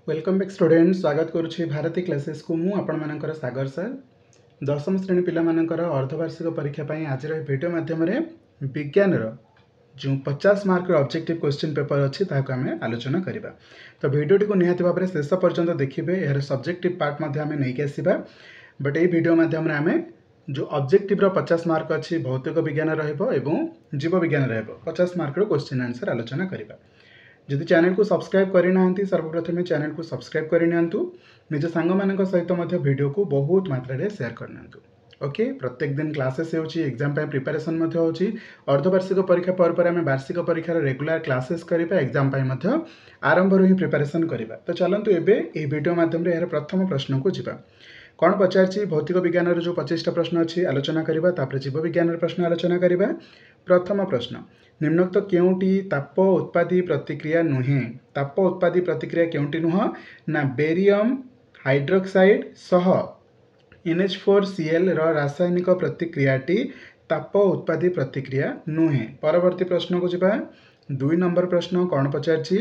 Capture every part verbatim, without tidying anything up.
Welcome back student, ସ୍ୱାଗତ କରୁଛି ଭାରତୀ କ୍ଲାସେସ୍କୁ। ମୁଁ ଆପଣମାନଙ୍କର ସାଗର ସାର୍। ଦଶମ ଶ୍ରେଣୀ ପିଲାମାନଙ୍କର ଅର୍ଦ୍ଧବାର୍ଷିକ ପରୀକ୍ଷା ପାଇଁ ଆଜିର ଏହି ଭିଡ଼ିଓ ମାଧ୍ୟମରେ ବିଜ୍ଞାନର ଯେଉଁ ପଚାଶ ମାର୍କର ଅବଜେକ୍ଟିଭ୍ କ୍ୱେଶ୍ଚିନ୍ ପେପର୍ ଅଛି, ତାହାକୁ ଆମେ ଆଲୋଚନା କରିବା। ତ ଭିଡ଼ିଓଟିକୁ ନିହାତି ଭାବରେ ଶେଷ ପର୍ଯ୍ୟନ୍ତ ଦେଖିବେ। ଏହାର ସବଜେକ୍ଟିଭ୍ ପାର୍ଟ ମଧ୍ୟ ଆମେ ନେଇକି ଆସିବା, ବଟ୍ ଏଇ ଭିଡ଼ିଓ ମାଧ୍ୟମରେ ଆମେ ଯେଉଁ ଅବଜେକ୍ଟିଭ୍ର ପଚାଶ ମାର୍କ ଅଛି, ଭୌତିକ ବିଜ୍ଞାନ ରହିବ ଏବଂ ଜୀବ ବିଜ୍ଞାନ ରହିବ, ପଚାଶ ମାର୍କର କ୍ୱେଶ୍ଚିନ୍ ଆନ୍ସର୍ ଆଲୋଚନା କରିବା। ଯଦି ଚ୍ୟାନେଲକୁ ସବସ୍କ୍ରାଇବ୍ କରିନାହାନ୍ତି, ସର୍ବପ୍ରଥମେ ଚ୍ୟାନେଲକୁ ସବସ୍କ୍ରାଇବ୍ କରିନିଅନ୍ତୁ। ନିଜ ସାଙ୍ଗମାନଙ୍କ ସହିତ ମଧ୍ୟ ଭିଡ଼ିଓକୁ ବହୁତ ମାତ୍ରାରେ ସେୟାର କରିନିଅନ୍ତୁ। ଓକେ, ପ୍ରତ୍ୟେକ ଦିନ କ୍ଲାସେସ୍ ହେଉଛି, ଏକ୍ଜାମ୍ ପାଇଁ ପ୍ରିପାରେସନ୍ ମଧ୍ୟ ହେଉଛି। ଅର୍ଦ୍ଧବାର୍ଷିକ ପରୀକ୍ଷା ପରେ ପରେ ଆମେ ବାର୍ଷିକ ପରୀକ୍ଷାର ରେଗୁଲାର କ୍ଲାସେସ୍ କରିବା, ଏକ୍ଜାମ୍ ପାଇଁ ମଧ୍ୟ ଆରମ୍ଭରୁ ହିଁ ପ୍ରିପାରେସନ୍ କରିବା। ତ ଚାଲନ୍ତୁ, ଏବେ ଏହି ଭିଡ଼ିଓ ମାଧ୍ୟମରେ ଏହାର ପ୍ରଥମ ପ୍ରଶ୍ନକୁ ଯିବା। କ'ଣ ପଚାରିଛି? ଭୌତିକ ବିଜ୍ଞାନର ଯେଉଁ ପଚିଶଟା ପ୍ରଶ୍ନ ଅଛି ଆଲୋଚନା କରିବା, ତାପରେ ଜୀବ ବିଜ୍ଞାନର ପ୍ରଶ୍ନ ଆଲୋଚନା କରିବା। ପ୍ରଥମ ପ୍ରଶ୍ନ, ନିମ୍ନୋକ୍ତ କେଉଁଟି ତାପ ଉତ୍ପାଦୀ ପ୍ରତିକ୍ରିୟା ନୁହେଁ? ତାପ ଉତ୍ପାଦୀ ପ୍ରତିକ୍ରିୟା କେଉଁଟି ନୁହଁ ନା ବେରିୟମ୍ ହାଇଡ୍ରୋକ୍ସାଇଡ୍ ସହ ଏନ୍ ଏଚ୍ ଫୋର୍ ସିଏଲ୍ର ରାସାୟନିକ ପ୍ରତିକ୍ରିୟାଟି ତାପ ଉତ୍ପାଦୀ ପ୍ରତିକ୍ରିୟା ନୁହେଁ। ପରବର୍ତ୍ତୀ ପ୍ରଶ୍ନକୁ ଯିବା। ଦୁଇ ନମ୍ବର ପ୍ରଶ୍ନ କ'ଣ ପଚାରିଛି?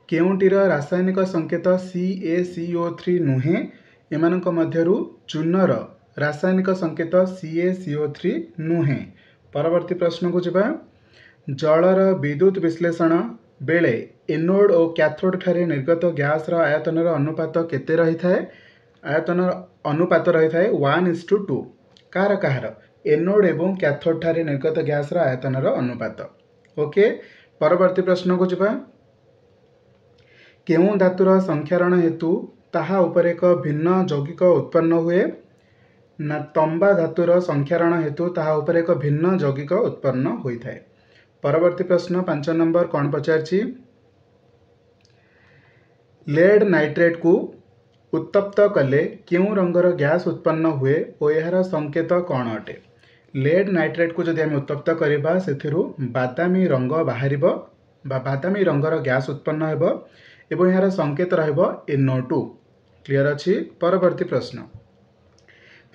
କେଉଁଟିର ରାସାୟନିକ ସଂକେତ C A C O three ନୁହେଁ? ଏମାନଙ୍କ ମଧ୍ୟରୁ ଚୂନର ରାସାୟନିକ ସଂକେତ C A C O three ନୁହେଁ। ପରବର୍ତ୍ତୀ ପ୍ରଶ୍ନକୁ ଯିବା। ଜଳର ବିଦ୍ୟୁତ ବିଶ୍ଳେଷଣ ବେଳେ ଏନୋଡ୍ ଓ କ୍ୟାଥୋଡ୍ ଠାରେ ନିର୍ଗତ ଗ୍ୟାସ୍ର ଆୟତନର ଅନୁପାତ କେତେ ରହିଥାଏ? ଆୟତନର ଅନୁପାତ ରହିଥାଏ ୱାନ୍ is two two. କାହାର କାହାର? ଏନୋଡ୍ ଏବଂ କ୍ୟାଥୋଡ୍ ଠାରେ ନିର୍ଗତ ଗ୍ୟାସ୍ର ଆୟତନର ଅନୁପାତ। ଓକେ, ପରବର୍ତ୍ତୀ ପ୍ରଶ୍ନକୁ ଯିବା। କେଉଁ ଧାତୁର ସଂକ୍ଷାରଣ ହେତୁ ତାହା ଉପରେ ଏକ ଭିନ୍ନ ଯୌଗିକ ଉତ୍ପନ୍ନ ହୁଏ? ନା ତମ୍ବା ଧାତୁର ସଂକ୍ଷାରଣ ହେତୁ ତାହା ଉପରେ ଏକ ଭିନ୍ନ ଯୌଗିକ ଉତ୍ପନ୍ନ ହୋଇଥାଏ। ପରବର୍ତ୍ତୀ ପ୍ରଶ୍ନ ପାଞ୍ଚ ନମ୍ବର କ'ଣ ପଚାରିଛି? ଲେଡ୍ ନାଇଟ୍ରେଟ୍କୁ ଉତ୍ତପ୍ତ କଲେ କେଉଁ ରଙ୍ଗର ଗ୍ୟାସ୍ ଉତ୍ପନ୍ନ ହୁଏ ଓ ଏହାର ସଂକେତ କ'ଣ ଅଟେ? ଲେଡ୍ ନାଇଟ୍ରେଟ୍କୁ ଯଦି ଆମେ ଉତ୍ତପ୍ତ କରିବା, ସେଥିରୁ ବାଦାମୀ ରଙ୍ଗ ବାହାରିବ ବା ବାଦାମୀ ରଙ୍ଗର ଗ୍ୟାସ୍ ଉତ୍ପନ୍ନ ହେବ ଏବଂ ଏହାର ସଂକେତ ରହିବ ଏନ୍ଓ ଟୁ। କ୍ଲିଅର ଅଛି? ପରବର୍ତ୍ତୀ ପ୍ରଶ୍ନ,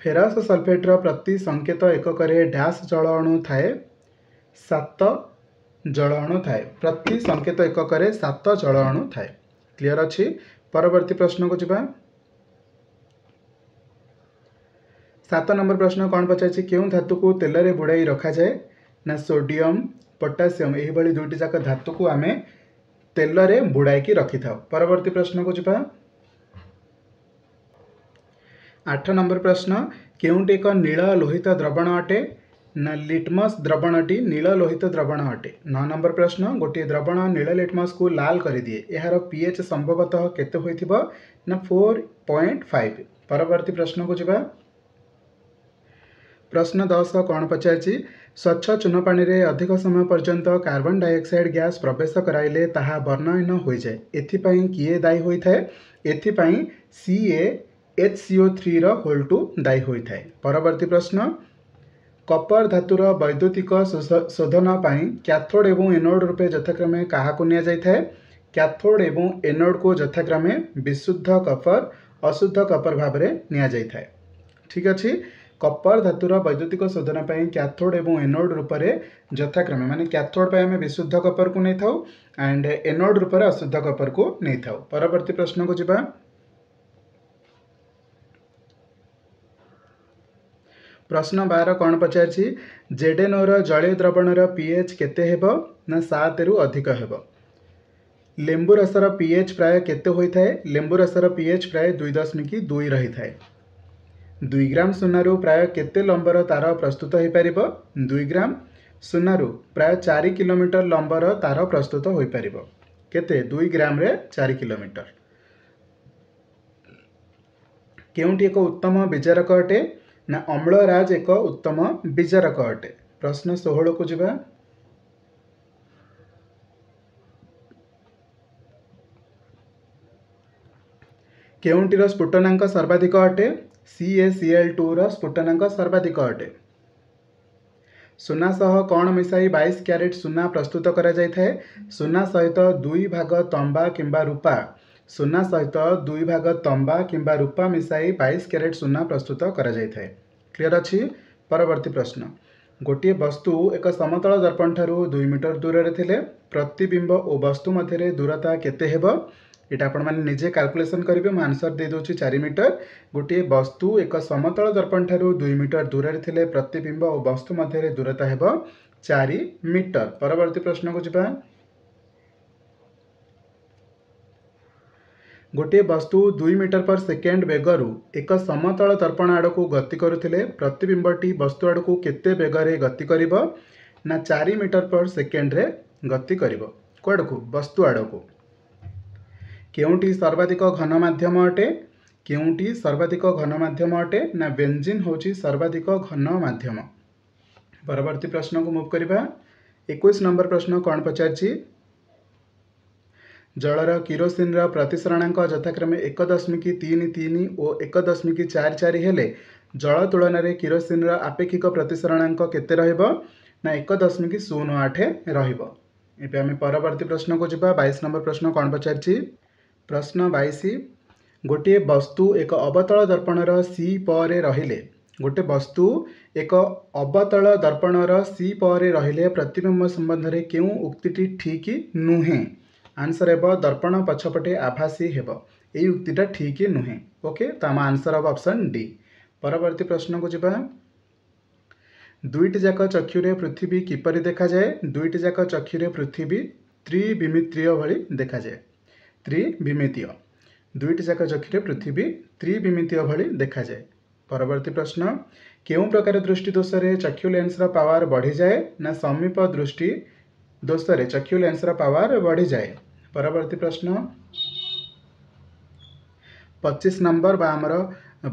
ଫେରସ୍ ସଲଫେଟ୍ର ପ୍ରତି ସଂକେତ ଏକକରେ ଡ୍ୟାସ୍ ଜଳ ଅଣୁ ଥାଏ? ସାତ ଜଳ ଅଣୁ ଥାଏ। ପ୍ରତି ସଂକେତ ଏକକରେ ସାତ ଜଳ ଅଣୁ ଥାଏ। କ୍ଲିଅର ଅଛି? ପରବର୍ତ୍ତୀ ପ୍ରଶ୍ନକୁ ଯିବା। ସାତ ନମ୍ବର ପ୍ରଶ୍ନ କ'ଣ ପଚାରିଛି? କେଉଁ ଧାତୁକୁ ତେଲରେ ବୁଡ଼ାଇ ରଖାଯାଏ? ନା ସୋଡ଼ିୟମ୍, ପଟାସିୟମ୍, ଏହିଭଳି ଦୁଇଟି ଯାକ ଧାତୁକୁ ଆମେ ତେଲରେ ବୁଡ଼ାଇକି ରଖିଥାଉ। ପରବର୍ତ୍ତୀ ପ୍ରଶ୍ନକୁ ଯିବା। ଆଠ ନମ୍ବର ପ୍ରଶ୍ନ, କେଉଁଟି ଏକ ନୀଳ ଲୋହିତ ଦ୍ରବଣ ଅଟେ? ନା ଲିଟମସ୍ ଦ୍ରବଣଟି ନୀଳ ଲୋହିତ ଦ୍ରବଣ ଅଟେ। ନଅ ନମ୍ବର ପ୍ରଶ୍ନ, ଗୋଟିଏ ଦ୍ରବଣ ନୀଳ ଲିଟମସ୍କୁ ଲାଲ କରିଦିଏ, ଏହାର ପି ଏଚ୍ ସମ୍ଭବତଃ କେତେ ହୋଇଥିବ? ନା ଫୋର୍ ପଏଣ୍ଟ ଫାଇଭ୍। ପରବର୍ତ୍ତୀ ପ୍ରଶ୍ନକୁ ଯିବା। ପ୍ରଶ୍ନ ଦଶ କ'ଣ ପଚାରିଛି? ସ୍ୱଚ୍ଛ ଚୂନ ପାଣିରେ ଅଧିକ ସମୟ ପର୍ଯ୍ୟନ୍ତ କାର୍ବନ ଡାଇଅକ୍ସାଇଡ୍ ଗ୍ୟାସ୍ ପ୍ରବେଶ କରାଇଲେ ତାହା ବର୍ଣ୍ଣହୀନ ହୋଇଯାଏ, ଏଥିପାଇଁ କିଏ ଦାୟୀ ହୋଇଥାଏ? ଏଥିପାଇଁ C A H C O ଥ୍ରୀର ହୋଲ୍ ଟୁ ଦାୟୀ ହୋଇଥାଏ। ପରବର୍ତ୍ତୀ ପ୍ରଶ୍ନ, କପର ଧାତୁର ବୈଦ୍ୟୁତିକ ଶୋଧନ ପାଇଁ କ୍ୟାଥୋଡ୍ ଏବଂ ଏନୋଡ୍ ରୂପେ ଯଥାକ୍ରମେ କାହାକୁ ନିଆଯାଇଥାଏ? କ୍ୟାଥୋଡ୍ ଏବଂ ଏନୋଡ୍କୁ ଯଥାକ୍ରମେ ବିଶୁଦ୍ଧ କପର, ଅଶୁଦ୍ଧ କପର ଭାବରେ ନିଆଯାଇଥାଏ। ଠିକ୍ ଅଛି? କପର ଧାତୁର ବୈଦ୍ୟୁତିକ ଶୋଧନ ପାଇଁ କ୍ୟାଥୋଡ୍ ଏବଂ ଏନୋଡ୍ ରୂପରେ ଯଥାକ୍ରମେ, ମାନେ କ୍ୟାଥୋଡ୍ ପାଇଁ ଆମେ ବିଶୁଦ୍ଧ କପରକୁ ନେଇଥାଉ ଆଣ୍ଡ ଏନୋଡ୍ ରୂପରେ ଅଶୁଦ୍ଧ କପରକୁ ନେଇଥାଉ। ପରବର୍ତ୍ତୀ ପ୍ରଶ୍ନକୁ ଯିବା। ପ୍ରଶ୍ନ ବାର କ'ଣ ପଚାରିଛି? ଜେଡେନୋର ଜଳୀୟ ଦ୍ରବଣର ପି ଏଚ୍ କେତେ ହେବ? ନା ସାତରୁ ଅଧିକ ହେବ। ଲେମ୍ବୁ ରସର ପି ଏଚ୍ ପ୍ରାୟ କେତେ ହୋଇଥାଏ? ଲେମ୍ବୁ ରସର ପି ଏଚ୍ ପ୍ରାୟ ଦୁଇ ଦଶମିକ ଦୁଇ ରହିଥାଏ। ଦୁଇ ଗ୍ରାମ ସୁନାରୁ ପ୍ରାୟ କେତେ ଲମ୍ବର ତାର ପ୍ରସ୍ତୁତ ହୋଇପାରିବ? ଦୁଇ ଗ୍ରାମ ସୁନାରୁ ପ୍ରାୟ ଚାରି କିଲୋମିଟର ଲମ୍ବର ତାର ପ୍ରସ୍ତୁତ ହୋଇପାରିବ। କେତେ? ଦୁଇ ଗ୍ରାମରେ ଚାରି କିଲୋମିଟର। କେଉଁଟି ଏକ ଉତ୍ତମ ବିଜାରକ ଅଟେ? ନା ଅମ୍ଳରାଜ ଏକ ଉତ୍ତମ ବିଜାରକ ଅଟେ। ପ୍ରଶ୍ନ ଷୋହଳକୁ ଯିବା। କେଉଁଟିର ସ୍ଫୁଟନାଙ୍କ ସର୍ବାଧିକ ଅଟେ? ସି ଏ ସି ଏଲ୍ ଟୁର ସ୍ଫୁଟନାଙ୍କ ସର୍ବାଧିକ ଅଟେ। ସୁନା ସହ କ'ଣ ମିଶାଇ ବାଇଶ କ୍ୟାରେଟ୍ ସୁନା ପ୍ରସ୍ତୁତ କରାଯାଇଥାଏ? ସୁନା ସହିତ ଦୁଇ ଭାଗ ତମ୍ବା କିମ୍ବା ରୂପା, ସୁନା ସହିତ ଦୁଇ ଭାଗ ତମ୍ବା କିମ୍ବା ରୂପା ମିଶାଇ ବାଇଶ କ୍ୟାରେଟ୍ ସୁନା ପ୍ରସ୍ତୁତ କରାଯାଇଥାଏ। କ୍ଲିଅର ଅଛି? ପରବର୍ତ୍ତୀ ପ୍ରଶ୍ନ, ଗୋଟିଏ ବସ୍ତୁ ଏକ ସମତଳ ଦର୍ପଣ ଠାରୁ ଦୁଇ ମିଟର ଦୂରରେ ଥିଲେ ପ୍ରତିବିମ୍ବ ଓ ବସ୍ତୁ ମଧ୍ୟରେ ଦୂରତା କେତେ ହେବ? ଏଇଟା ଆପଣମାନେ ନିଜେ କାଲକୁଲେସନ୍ କରିବେ। ମୁଁ ଆନ୍ସର୍ ଦେଇଦେଉଛି ଚାରି ମିଟର। ଗୋଟିଏ ବସ୍ତୁ ଏକ ସମତଳ ଦର୍ପଣ ଠାରୁ ଦୁଇ ମିଟର ଦୂରରେ ଥିଲେ ପ୍ରତିବିମ୍ବ ଓ ବସ୍ତୁ ମଧ୍ୟରେ ଦୂରତା ହେବ ଚାରି ମିଟର। ପରବର୍ତ୍ତୀ ପ୍ରଶ୍ନକୁ ଯିବା। ଗୋଟିଏ ବସ୍ତୁ ଦୁଇ ମିଟର ପର ସେକେଣ୍ଡ ବେଗରୁ ଏକ ସମତଳ ଦର୍ପଣ ଆଡ଼କୁ ଗତି କରୁଥିଲେ ପ୍ରତିବିମ୍ବଟି ବସ୍ତୁ ଆଡ଼କୁ କେତେ ବେଗରେ ଗତି କରିବ? ନା ଚାରି ମିଟର ପର ସେକେଣ୍ଡରେ ଗତି କରିବ। କୁଆଡ଼କୁ? ବସ୍ତୁ ଆଡ଼କୁ। କେଉଁଟି ସର୍ବାଧିକ ଘନ ମାଧ୍ୟମ ଅଟେ? କେଉଁଟି ସର୍ବାଧିକ ଘନ ମାଧ୍ୟମ ଅଟେ? ନା ବେଞ୍ଜିନ୍ ହେଉଛି ସର୍ବାଧିକ ଘନ ମାଧ୍ୟମ। ପରବର୍ତ୍ତୀ ପ୍ରଶ୍ନକୁ ମୁଭ୍ କରିବା। ଏକୋଇଶ ନମ୍ବର ପ୍ରଶ୍ନ କ'ଣ ପଚାରିଛି? ଜଳର କିରୋସିନର ପ୍ରତିସରଣାଙ୍କ ଯଥାକ୍ରମେ ଏକ ଦଶମିକ ତିନି ତିନି ଓ ଏକ ଦଶମିକ ଚାରି ଚାରି ହେଲେ ଜଳ ତୁଳନାରେ କିରୋସିନର ଆପେକ୍ଷିକ ପ୍ରତିସରଣାଙ୍କ କେତେ ରହିବ? ନା ଏକ ଦଶମିକ ଶୂନ ଆଠ ରହିବ। ଏବେ ଆମେ ପରବର୍ତ୍ତୀ ପ୍ରଶ୍ନକୁ ଯିବା। ବାଇଶ ନମ୍ବର ପ୍ରଶ୍ନ କ'ଣ ପଚାରିଛି? ପ୍ରଶ୍ନ ବାଇଶ, ଗୋଟିଏ ବସ୍ତୁ ଏକ ଅବତଳ ଦର୍ପଣର ସି ପରେ ରହିଲେ ଗୋଟେ ବସ୍ତୁ ଏକ ଅବତଳ ଦର୍ପଣର ସି ପରେ ରହିଲେ ପ୍ରତିବିମ୍ବ ସମ୍ବନ୍ଧରେ କେଉଁ ଉକ୍ତିଟି ଠିକ୍ ନୁହେଁ? ଆନ୍ସର୍ ହେବ ଦର୍ପଣ ପଛପଟେ ଆଭାସୀ ହେବ। ଏଇ ଉକ୍ତିଟା ଠିକ୍ ନୁହେଁ। ଓକେ, ତ ଆମ ଆନ୍ସର୍ ହେବ ଅପସନ୍ ଡି। ପରବର୍ତ୍ତୀ ପ୍ରଶ୍ନକୁ ଯିବା। ଦୁଇଟି ଯାକ ଚକ୍ଷୁରେ ପୃଥିବୀ କିପରି ଦେଖାଯାଏ? ଦୁଇଟି ଯାକ ଚକ୍ଷୁରେ ପୃଥିବୀ ତ୍ରିବିମିତୀୟ ଭଳି ଦେଖାଯାଏ। ତ୍ରିବିମିତୀୟ। ଦୁଇଟି ଯାକ ଚକ୍ଷୁରେ ପୃଥିବୀ ତ୍ରିବିମିତୀୟ ଭଳି ଦେଖାଯାଏ। ପରବର୍ତ୍ତୀ ପ୍ରଶ୍ନ, କେଉଁ ପ୍ରକାର ଦୃଷ୍ଟି ଦୋଷରେ ଚକ୍ଷୁ ଲେନ୍ସର ପାୱାର ବଢ଼ିଯାଏ? ନା ସମୀପ ଦୃଷ୍ଟି ଦୋଷରେ ଚକ୍ଷୁ ଲେନ୍ସର ପାୱାର ବଢ଼ିଯାଏ। ପରବର୍ତ୍ତୀ ପ୍ରଶ୍ନ ପଚିଶ ନମ୍ବର ବା ଆମର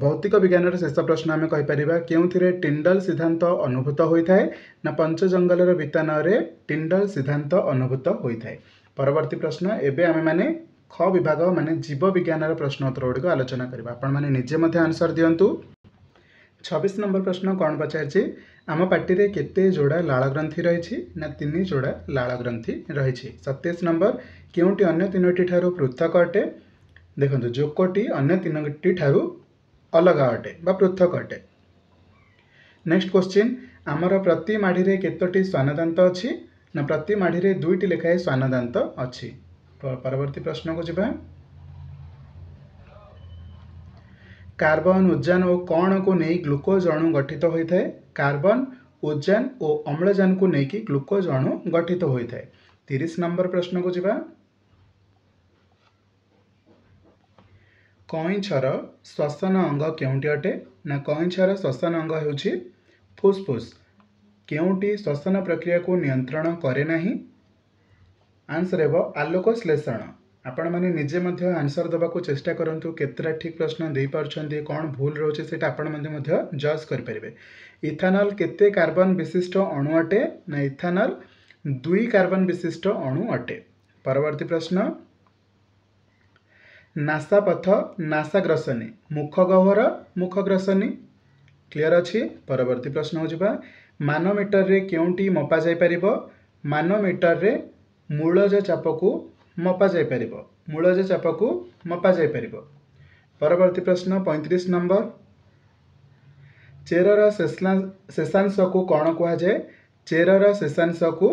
ଭୌତିକ ବିଜ୍ଞାନର ଶେଷ ପ୍ରଶ୍ନ ଆମେ କହିପାରିବା, କେଉଁଥିରେ ଟିଣ୍ଡଲ ସିଦ୍ଧାନ୍ତ ଅନୁଭୂତ ହୋଇଥାଏ? ନା ପଞ୍ଚଜଙ୍ଗଲର ବିତାନରେ ଟିଣ୍ଡଲ ସିଦ୍ଧାନ୍ତ ଅନୁଭୂତ ହୋଇଥାଏ। ପରବର୍ତ୍ତୀ ପ୍ରଶ୍ନ, ଏବେ ଆମେମାନେ ଖ ବିଭାଗ ମାନେ ଜୀବ ବିଜ୍ଞାନର ପ୍ରଶ୍ନ ଉତ୍ତର ଗୁଡ଼ିକ ଆଲୋଚନା କରିବା। ଆପଣମାନେ ନିଜେ ମଧ୍ୟ ଆନ୍ସର୍ ଦିଅନ୍ତୁ। ଛବିଶ ନମ୍ବର ପ୍ରଶ୍ନ କ'ଣ ପଚାରିଛି? ଆମ ପାଟିରେ କେତେ ଯୋଡ଼ା ଲାଳ ଗ୍ରନ୍ଥି ରହିଛି? ନା ତିନି ଯୋଡ଼ା ଲାଳ ଗ୍ରନ୍ଥି ରହିଛି। ସତେଇଶ ନମ୍ବର, କେଉଁଟି ଅନ୍ୟ ତିନୋଟି ଠାରୁ ପୃଥକ ଅଟେ? ଦେଖନ୍ତୁ, ଜୋକଟି ଅନ୍ୟ ତିନୋଟି ଠାରୁ ଅଲଗା ଅଟେ ବା ପୃଥକ ଅଟେ। ନେକ୍ସଟ କ୍ୱେଶ୍ଚିନ୍, ଆମର ପ୍ରତି ମାଢ଼ିରେ କେତୋଟି ଶ୍ୱାନଦାନ୍ତ ଅଛି? ନା ପ୍ରତି ମାଢ଼ିରେ ଦୁଇଟି ଲେଖାଏଁ ଶ୍ୱାନଦାନ୍ତ ଅଛି। ପରବର୍ତ୍ତୀ ପ୍ରଶ୍ନକୁ ଯିବା। କାର୍ବନ, ଉଦ୍ଜାନ ଓ କ'ଣକୁ ନେଇ ଗ୍ଲୁକୋଜ ଅଣୁ ଗଠିତ ହୋଇଥାଏ? କାର୍ବନ, ଉଦ୍ଜାନ ଓ ଅମ୍ଳଜାନକୁ ନେଇକି ଗ୍ଲୁକୋଜ ଅଣୁ ଗଠିତ ହୋଇଥାଏ। ତିରିଶ ନମ୍ବର ପ୍ରଶ୍ନକୁ ଯିବା। କଇଁଛର ଶ୍ୱସନ ଅଙ୍ଗ କେଉଁଟି ଅଟେ? ନା କଇଁଛର ଶ୍ୱସନ ଅଙ୍ଗ ହେଉଛି ଫୁସଫୁସ। କେଉଁଟି ଶ୍ୱସନ ପ୍ରକ୍ରିୟାକୁ ନିୟନ୍ତ୍ରଣ କରେ ନାହିଁ? ଆନ୍ସର୍ ହେବ ଆଲୋକ ଶ୍ଳେଷଣ। ଆପଣମାନେ ନିଜେ ମଧ୍ୟ ଆନ୍ସର୍ ଦେବାକୁ ଚେଷ୍ଟା କରନ୍ତୁ, କେତେଟା ଠିକ୍ ପ୍ରଶ୍ନ ଦେଇପାରୁଛନ୍ତି, କ'ଣ ଭୁଲ ରହୁଛି ସେଇଟା ଆପଣମାନେ ମଧ୍ୟ ଜଜ୍ କରିପାରିବେ। ଇଥାନଲ୍ କେତେ କାର୍ବନ ବିଶିଷ୍ଟ ଅଣୁ ଅଟେ? ନା ଇଥାନଲ୍ ଦୁଇ କାର୍ବନ ବିଶିଷ୍ଟ ଅଣୁ ଅଟେ। ପରବର୍ତ୍ତୀ ପ୍ରଶ୍ନ, ନାସାପଥ ନାସାଗ୍ରସନୀ, ମୁଖ ଗହ୍ୱର ମୁଖଗ୍ରସନୀ। କ୍ଲିଅର୍ ଅଛି? ପରବର୍ତ୍ତୀ ପ୍ରଶ୍ନକୁ ଯିବା। ମାନୋମିଟରରେ କେଉଁଟି ମପା ଯାଇପାରିବ? ମାନୋମିଟରରେ ମୂଳଜ ଚାପକୁ ମପା ଯାଇପାରିବ। ମୂଳଜ ଚାପକୁ ମପା ଯାଇପାରିବ। ପରବର୍ତ୍ତୀ ପ୍ରଶ୍ନ ପଇଁତିରିଶ ନମ୍ବର, ଚେରର ଶେଷାଂଶକୁ କ'ଣ କୁହାଯାଏ? ଚେରର ଶେଷାଂଶକୁ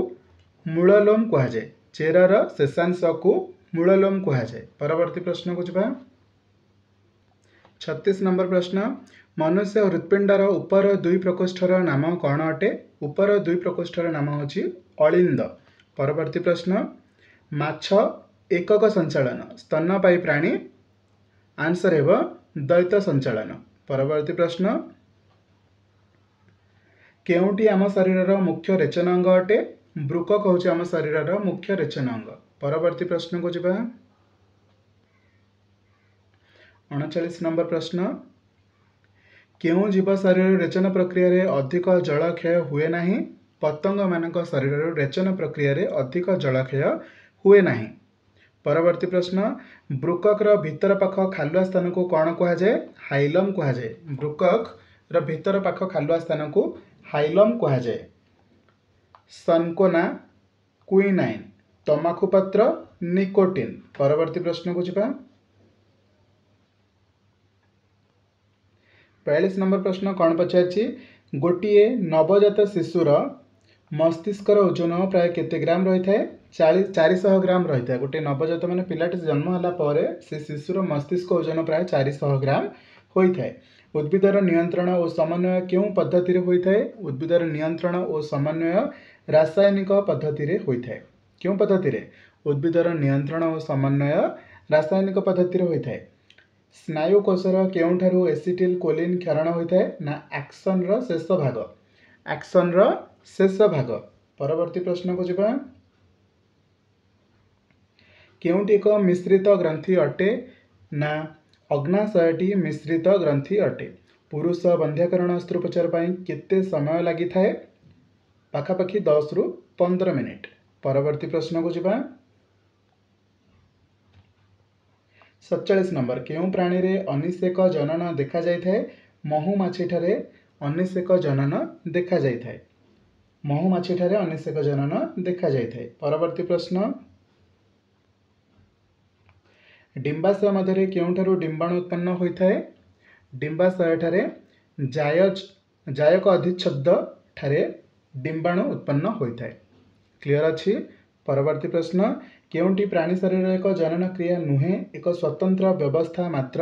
ମୂଳଲୋମ କୁହାଯାଏ। ଚେରର ଶେଷାଂଶକୁ ମୂଳଲୋମ କୁହାଯାଏ। ପରବର୍ତ୍ତୀ ପ୍ରଶ୍ନକୁ ଯିବା। ଛତିଶ ନମ୍ବର ପ୍ରଶ୍ନ, ମନୁଷ୍ୟ ହୃତ୍ପିଣ୍ଡର ଉପର ଦୁଇ ପ୍ରକୋଷ୍ଠର ନାମ କ'ଣ ଅଟେ? ଉପର ଦୁଇ ପ୍ରକୋଷ୍ଠର ନାମ ହେଉଛି ଅଳିନ୍ଦ। ପରବର୍ତ୍ତୀ ପ୍ରଶ୍ନ, ମାଛ ଏକକ ସଞ୍ଚାଳନ, ସ୍ତନ୍ୟପାୟୀ ପ୍ରାଣୀ। ଆନ୍ସର୍ ହେବ ଦ୍ୱୈତ ସଞ୍ଚାଳନ। ପରବର୍ତ୍ତୀ ପ୍ରଶ୍ନ, କେଉଁଟି ଆମ ଶରୀରର ମୁଖ୍ୟ ରେଚନ ଅଙ୍ଗ ଅଟେ? ବୃକକ ହେଉଛି ଆମ ଶରୀରର ମୁଖ୍ୟ ରେଚନ ଅଙ୍ଗ। ପରବର୍ତ୍ତୀ ପ୍ରଶ୍ନକୁ ଯିବା। ଅଣଚାଳିଶ ନମ୍ବର ପ୍ରଶ୍ନ, କେଉଁ ଜୀବ ଶରୀରରୁ ରେଚନ ପ୍ରକ୍ରିୟାରେ ଅଧିକ ଜଳକ୍ଷୟ ହୁଏ ନାହିଁ? ପତଙ୍ଗମାନଙ୍କ ଶରୀରରୁ ରେଚନ ପ୍ରକ୍ରିୟାରେ ଅଧିକ ଜଳକ୍ଷୟ ହୁଏ ନାହିଁ। ପରବର୍ତ୍ତୀ ପ୍ରଶ୍ନ, ବୃକକର ଭିତର ପାଖ ଖାଲୁଆ ସ୍ଥାନକୁ କ'ଣ କୁହାଯାଏ? ହାଇଲମ୍ କୁହାଯାଏ। ବୃକକର ଭିତର ପାଖ ଖାଲୁଆ ସ୍ଥାନକୁ ହାଇଲମ୍ କୁହାଯାଏ। ସନକୋନା, କୁଇନାଇନ୍, ତମାଖୁ ପତ୍ର, ନିକୋଟିନ୍। ପରବର୍ତ୍ତୀ ପ୍ରଶ୍ନକୁ ଯିବା। ବୟାଳିଶ ନମ୍ବର ପ୍ରଶ୍ନ କ'ଣ ପଚାରିଛି? ଗୋଟିଏ ନବଜାତ ଶିଶୁର ମସ୍ତିଷ୍କର ଓଜନ ପ୍ରାୟ କେତେ ଗ୍ରାମ ରହିଥାଏ? ଚାଳିଶ ଚାରିଶହ ଗ୍ରାମ ରହିଥାଏ। ଗୋଟିଏ ନବଜାତ ମାନେ ପିଲାଟି ଜନ୍ମ ହେଲା ପରେ ସେ ଶିଶୁର ମସ୍ତିଷ୍କ ଓଜନ ପ୍ରାୟ ଚାରିଶହ ଗ୍ରାମ ହୋଇଥାଏ। ଉଦ୍ଭିଦର ନିୟନ୍ତ୍ରଣ ଓ ସମନ୍ୱୟ କେଉଁ ପଦ୍ଧତିରେ ହୋଇଥାଏ? ଉଦ୍ଭିଦର ନିୟନ୍ତ୍ରଣ ଓ ସମନ୍ୱୟ ରାସାୟନିକ ପଦ୍ଧତିରେ ହୋଇଥାଏ। କେଉଁ ପଦ୍ଧତିରେ? ଉଦ୍ଭିଦର ନିୟନ୍ତ୍ରଣ ଓ ସମନ୍ୱୟ ରାସାୟନିକ ପଦ୍ଧତିରେ ହୋଇଥାଏ। ସ୍ନାୟୁ କୋଷର କେଉଁଠାରୁ ଏସିଟିଲ୍ କୋଲିନ୍ କ୍ଷରଣ ହୋଇଥାଏ? ନା ଆକ୍ସନର ଶେଷ ଭାଗ, ଆକ୍ସନର ଶେଷ ଭାଗ। ପରବର୍ତ୍ତୀ ପ୍ରଶ୍ନକୁ ଯିବା। କେଉଁଟି ଏକ ମିଶ୍ରିତ ଗ୍ରନ୍ଥି ଅଟେ? ନା ଅଗ୍ନାଶୟଟି ମିଶ୍ରିତ ଗ୍ରନ୍ଥି ଅଟେ। ପୁରୁଷ ବନ୍ଧ୍ୟାକରଣ ଅସ୍ତ୍ରୋପଚାର ପାଇଁ କେତେ ସମୟ ଲାଗିଥାଏ? ପାଖାପାଖି ଦଶରୁ ପନ୍ଦର ମିନିଟ୍। ପରବର୍ତ୍ତୀ ପ୍ରଶ୍ନକୁ ଯିବା। ସତଚାଳିଶ ନମ୍ବର, କେଉଁ ପ୍ରାଣୀରେ ଅନିଷେକ ଜନନ ଦେଖାଯାଇଥାଏ? ମହୁମାଛିଠାରେ ଅନିଷେକ ଜନନ ଦେଖାଯାଇଥାଏ। ମହୁମାଛିଠାରେ ଅନିଷେକ ଜନନ ଦେଖାଯାଇଥାଏ। ପରବର୍ତ୍ତୀ ପ୍ରଶ୍ନ, ଡିମ୍ବାଶୟ ମଧ୍ୟରେ କେଉଁଠାରୁ ଡିମ୍ବାଣୁ ଉତ୍ପନ୍ନ ହୋଇଥାଏ? ଡିମ୍ବାଶୟଠାରେ ଜାୟଜ ଜାୟକ ଅଧିଚ୍ଛଦ ଠାରେ ଡିମ୍ବାଣୁ ଉତ୍ପନ୍ନ ହୋଇଥାଏ। କ୍ଲିଅର ଅଛି? ପରବର୍ତ୍ତୀ ପ୍ରଶ୍ନ, କେଉଁଟି ପ୍ରାଣୀ ଶରୀରର ଏକ ଜନନ କ୍ରିୟା ନୁହେଁ, ଏକ ସ୍ୱତନ୍ତ୍ର ବ୍ୟବସ୍ଥା ମାତ୍ର?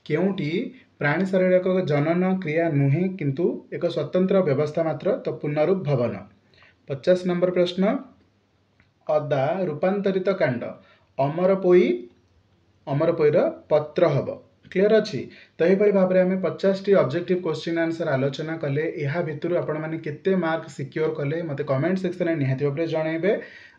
କେଉଁଟି ପ୍ରାଣୀ ଶରୀରର ଏକ ଜନନ କ୍ରିୟା ନୁହେଁ କିନ୍ତୁ ଏକ ସ୍ୱତନ୍ତ୍ର ବ୍ୟବସ୍ଥା ମାତ୍ର? ତ ପୁନରୁଦ୍ଭବନ। ପଚାଶ ନମ୍ବର ପ୍ରଶ୍ନ, ଅଦା ରୂପାନ୍ତରିତ କାଣ୍ଡ ଅମରପୋଇ ଅମରପୋଇର ପତ୍ର ହେବ। କ୍ଲିଅର ଅଛି? ତ ଏହିଭଳି ଭାବରେ ଆମେ ପଚାଶଟି ଅବଜେକ୍ଟିଭ କୋଶ୍ଚିନ୍ ଆନ୍ସର ଆଲୋଚନା କଲେ। ଏହା ଭିତରୁ ଆପଣମାନେ କେତେ ମାର୍କ ସିକ୍ୟୋର କଲେ ମୋତେ କମେଣ୍ଟ ସେକ୍ସନରେ ନିହାତି ଭାବରେ ଜଣାଇବେ।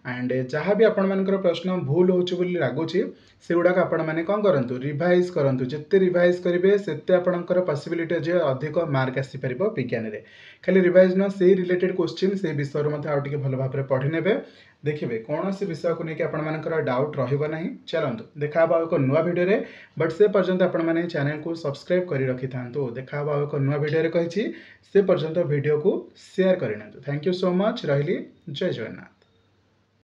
ଆଣ୍ଡ ଯାହା ବି ଆପଣମାନଙ୍କର ପ୍ରଶ୍ନ ଭୁଲ ହେଉଛି ବୋଲି ଲାଗୁଛି ସେଗୁଡ଼ାକ ଆପଣମାନେ କ'ଣ କରନ୍ତୁ, ରିଭାଇଜ୍ କରନ୍ତୁ। ଯେତେ ରିଭାଇଜ୍ କରିବେ ସେତେ ଆପଣଙ୍କର ପସିବିଲିଟି ଅଛି ଅଧିକ ମାର୍କ ଆସିପାରିବ ବିଜ୍ଞାନରେ। ଖାଲି ରିଭାଇଜ୍ ନୁହଁ, ସେଇ ରିଲେଟେଡ୍ କୋଶ୍ଚିନ୍ ସେଇ ବିଷୟରୁ ମଧ୍ୟ ଆଉ ଟିକେ ଭଲ ଭାବରେ ପଢ଼ି ନେବେ। ଦେଖିବେ କୌଣସି ବିଷୟକୁ ନେଇକି ଆପଣମାନଙ୍କର ଡାଉଟ୍ ରହିବ ନାହିଁ। ଚାଲନ୍ତୁ ଦେଖା ହେବ ଆଉ ଏକ ନୂଆ ଭିଡ଼ିଓରେ, ବଟ୍ ସେ ପର୍ଯ୍ୟନ୍ତ ଆପଣମାନେ ଚ୍ୟାନେଲକୁ ସବସ୍କ୍ରାଇବ୍ କରି ରଖିଥାନ୍ତୁ। ଦେଖା ହେବ ଆଉ ଏକ ନୂଆ ଭିଡ଼ିଓରେ କହିଛି, ସେ ପର୍ଯ୍ୟନ୍ତ ଭିଡ଼ିଓକୁ ସେୟାର କରିନିଅନ୍ତୁ। Thank you so much. ରହିଲି, ଜୟ ଜଗନ୍ନାଥ।